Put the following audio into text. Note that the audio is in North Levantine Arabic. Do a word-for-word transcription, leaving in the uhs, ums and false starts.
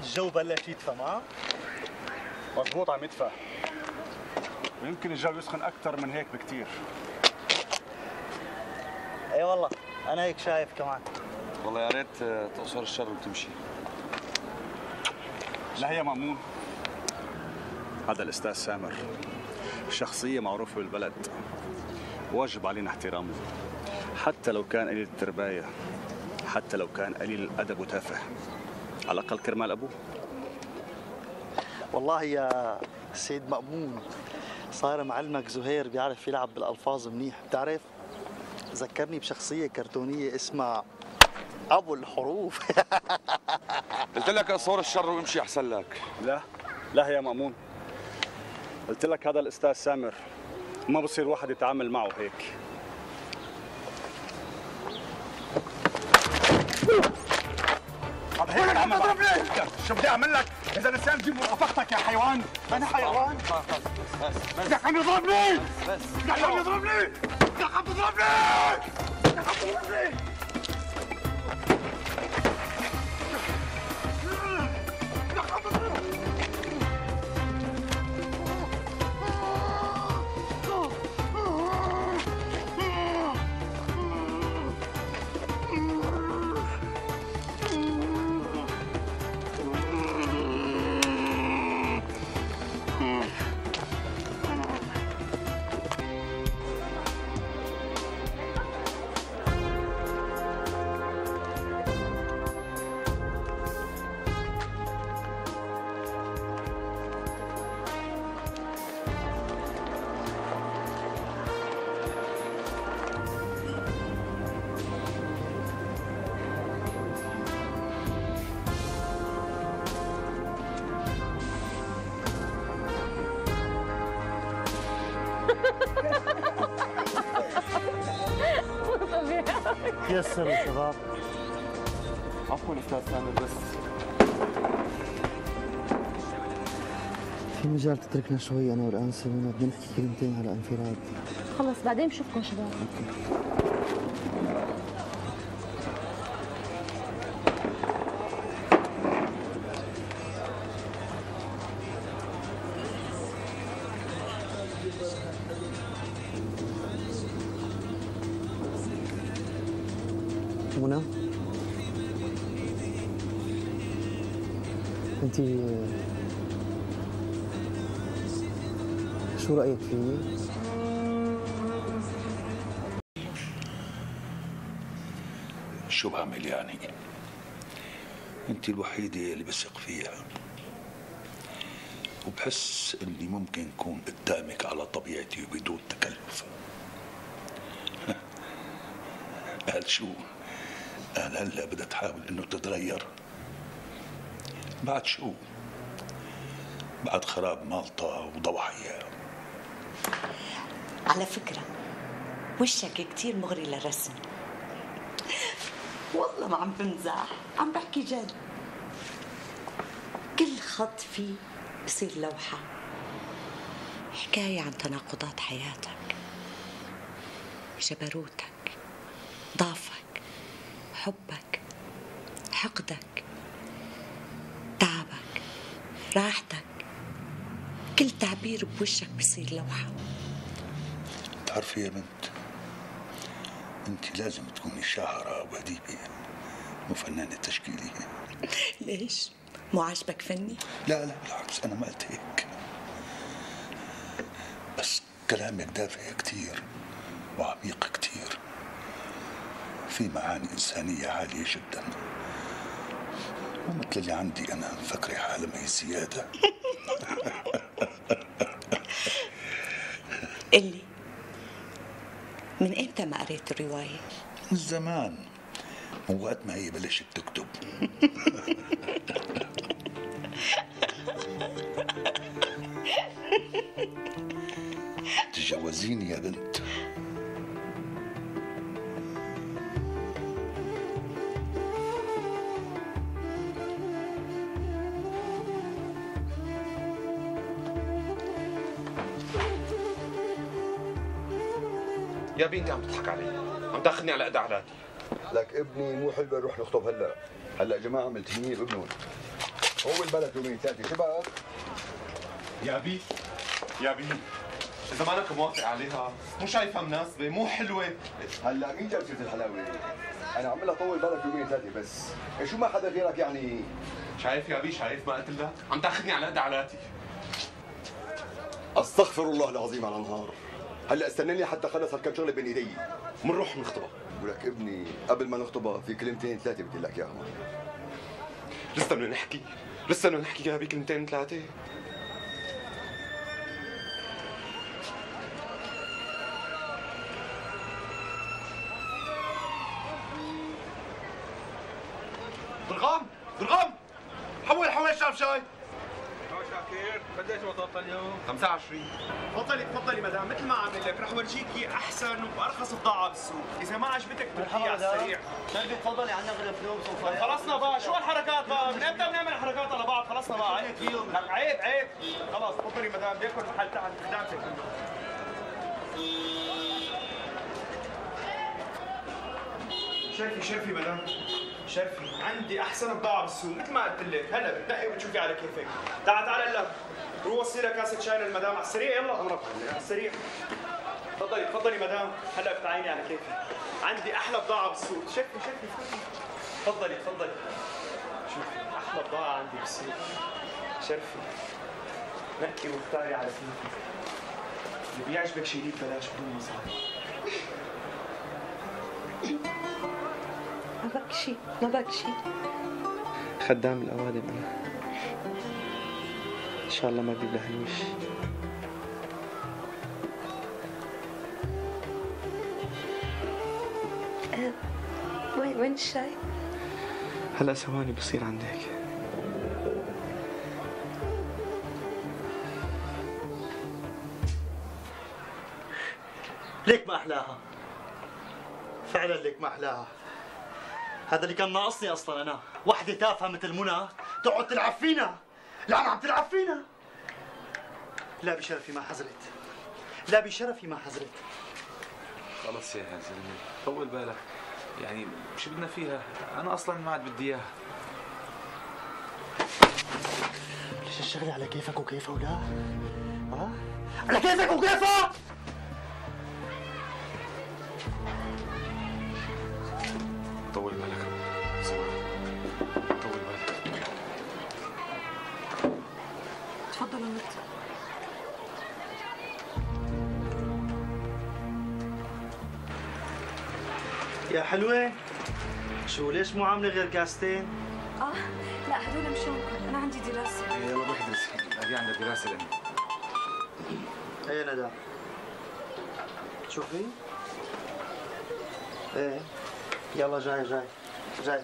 الجو بلش يدفى معه؟ مضبوط عم يدفى، ويمكن الجو يسخن أكثر من هيك بكثير. اي والله أنا هيك شايف كمان. والله يا ريت تقصر الشر وتمشي. لا يا مأمون، هذا الأستاذ سامر شخصية معروفة بالبلد، واجب علينا احترامه، حتى لو كان قليل الترباية، حتى لو كان قليل الأدب وتافه، على الأقل كرمال أبوه. والله يا سيد مأمون صار معلمك زهير بيعرف يلعب بالألفاظ منيح. بتعرف ذكرني بشخصية كرتونية اسمها أبو الحروف. قلت لك اقصر الشر وامشي أحسن لك. لا لا يا مأمون، قلت لك هذا الأستاذ سامر ما بصير واحد يتعامل معه هيك. هذا هيك عم تضربني؟ شو بدي اعمل لك؟ اذا لسان جيب رفقتك يا حيوان. انا حيوان؟ بس بس بدك عم يضربني؟ بس بدك عم يضربني؟ بدك عم تضربني؟ بدك عم تضربني؟ يسروا شباب. عفوا استاذ سامر، بس في مجال تتركنا شوي انا والانسه منى، بدنا نحكي كلمتين على انفراد. خلص بعدين بشوفكم شباب. منى انت شو رايك فيي؟ شو بعمل يعني؟ انت الوحيدة اللي بثق فيها، وبحس اني ممكن اكون قدامك على طبيعتي وبدون تكلف. قال شو؟ قال هلا بدها تحاول انه تتغير. بعد شو؟ بعد خراب مالطا وضواحيها. على فكرة وشك كتير مغري للرسم. والله ما عم بمزح، عم بحكي جد. كل خط فيه بصير لوحة، حكاية عن تناقضات حياتك، جبروتك، ضعفك، حبك، حقدك، تعبك، راحتك. كل تعبير بوشك بصير لوحة. بتعرفي يا بنت، انت لازم تكوني شاعرة وأديبة وفنانة تشكيلية. ليش؟ مو عاجبك فني؟ لا لا بالعكس، أنا ما قلت هيك، بس كلامك دافع كتير وعميق كتير، في معاني إنسانية عالية جدا، ومثل اللي عندي أنا مفكرة حالة ما هي زيادة. قلي من امتى ما قريت الرواية؟ من زمان، من وقت ما هي بلشت تكتب. تجوزيني يا بنت. يا بنتي عم تضحك علي، عم تاخذني على قد علاتي. لك ابني مو حلوه نروح نخطب هلا، هلا يا جماعه عم تهنيه بابنهم. هو البلد يومين ثلاثة شباب. يا بي يا بي إذا مالك موافق عليها مو شايفها مناسبة مو حلوة. هلا مين جاب سيرة الحلاوة؟ أنا عم لها طول بالك يومين ثلاثة بس، إيه شو ما حدا غيرك يعني؟ شايف يا بي شايف ما قلت لك؟ عم تاخذني على قد علاتي. استغفر الله العظيم على نهار. هلا استناني حتى خلص هالكم شغله بين ايدي منروح نخطبها. ولك ابني قبل ما نخطبها في كلمتين ثلاثه بدي لك اياهم. لسه بدنا نحكي لسه بدنا نحكي يا بي كلمتين ثلاثة. ضرغام ضرغام حول حول شاف شاي. شاكر قديش وصلت اليوم؟ خمسة وعشرين. تفضلي تفضلي مدام، مثل ما عامل لك رح ورجيكي احسن وارخص بضاعه بالسوق، اذا ما عجبتك بتركيها على السريع. شربي تفضلي عنا غير فلوس وفايق. خلصنا بقى، شو هالحركات بقى؟ من امتى بنعمل حركات على بعض؟ خلصنا بقى. عيب لك عيب عيب. خلص تفضلي مدام، بياكل محل تحت خدامتك. شرفي شرفي مدام شرفي، عندي احسن بضاعه بالسوق مثل ما قلت لك، هلا بتنقي وبتشوفي على كيفك. تعال تعال هلا روح وصي لها كاسه شاي للمدام على السريع. يلا امرك على السريع. تفضلي تفضلي مدام، هلا بتعيني على كيفك. عندي احلى بضاعه بالسوق. شرفي شرفي تفضلي تفضلي. شوفي احلى بضاعه عندي بالسوق. شرفي نقي واختاري على كيفك. اللي بيعجبك شيليه ببلاش بدون مصاري. ما بكشي ما بكشي. خدام الأوادم أنا، إن شاء الله ما بجيب لها هالوش. أه وين وين الشاي؟ هلا ثواني بصير عندك. ليك ما أحلاها، فعلا ليك ما أحلاها. هذا اللي كان ناقصني اصلا انا، وحده تافهه مثل منى تقعد تلعب فينا. لا عم تلعب فينا. لا بشرفي ما حزرت، لا بشرفي ما حزرت. خلص يا زلمه طول بالك، يعني شو بدنا فيها؟ انا اصلا ما عاد بدي اياها. ليش الشغله على كيفك وكيفها ولا؟ ها؟ على كيفك وكيفها؟ طول بالك طول بالك. تفضل ولد. يا حلوة، شو ليش مو عاملة غير كاستين؟ اه لا هدول مشانكم، انا عندي دراسة. يلا روح ادرسي، هي عندها دراسة لأني. ايه ندى شوفي. ايه يلا جاي جاي جاي.